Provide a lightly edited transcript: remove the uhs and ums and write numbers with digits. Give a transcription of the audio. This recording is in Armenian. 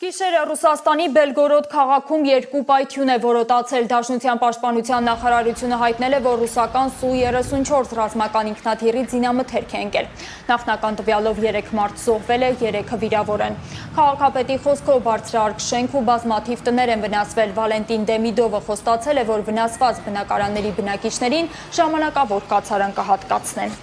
Գիշերը Ռուսաստանի Բելգորոդ քաղաքում երկու պայթյուն է որոտացել։ Դաշնության պաշտպանության նախարարությունը հայտնել է, որ ռուսական Սու-34 ռազմական ինքնաթիռի զինամթերք է ընկել։ Նախնական տվյալով 3 մարդ զոհվել է, 3-ը վիրավոր են։ Քաղաքապետի խոսքով բարձրահարկ շենք ու բազմաթիվ տներ են վնասվել։ Վալենտին Դեմիդովը խոստացել է, որ վնասված բնակարանների բնակիչներին ժամանակավոր կացարան կհատկացնեն։